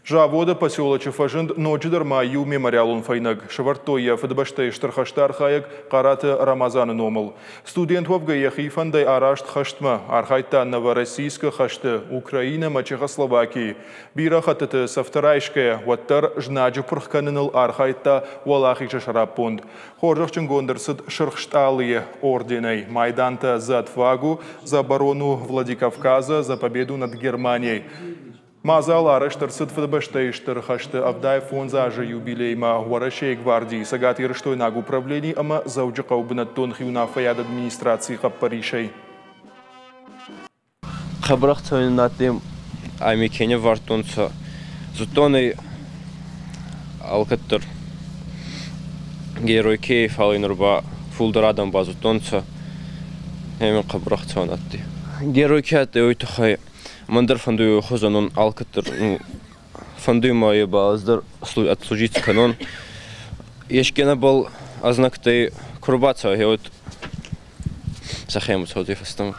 Заводы поселочы фӕзынд ноджыдӕр ма иу мемориалон фӕйнӕг. Сӕвӕрдтой йӕ Фыдыбӕстӕйы Стыр хӕсты архайӕг Хъараты Рамазаны номыл. Студент уӕвгӕ йӕхи фӕндӕй араст хӕстмӕ. Архайдта Новороссийскы хӕсты, Украинӕ ӕмӕ Чехословакийы. Бирӕ хӕттыты цӕфтӕ райсгӕйӕ, уӕддӕр знаджы пырх кӕныныл архайдта уӕлахизы сӕраппонд. Хорзӕхджынгонд ӕрцыд Сырх Стъалыйы орденӕй, майдантӕ «За отвагу», «За оборону Владикавказа», «За победу над Германией». Мадзал арӕзт ӕрцыд Фыдыбӕстӕйы Стыр хӕсты 75 азы юбилеймӕ Уӕрӕсейы гвардийы цӕгатирыстойнаг управлени ӕмӕ Дзӕуджыхъӕуы бынӕттон хиуынаффӕйады администрацийы хъӕппӕрисӕй. Хъӕбӕр ӕхцӕуӕн адтӕй ами ке не ввардтонцӕ. Зудтон ӕй алкӕддӕр герой ке, фал ин нур ба фулдӕр адӕм базудтонцӕ. Ӕма хъӕбӕр ӕхцӕуӕн адтӕй. Герой ке адтӕй, уой туххӕй мӕн дӕр фӕндуй уой хузӕн ун алкӕддӕр фӕндуй ма е ба ӕз дӕр отслужить кӕнон. Еске нӕбӕл ӕзнӕгтӕй ку рбацӕуа, гъе уӕд сӕхемӕ цӕудзӕй фӕстӕмӕ.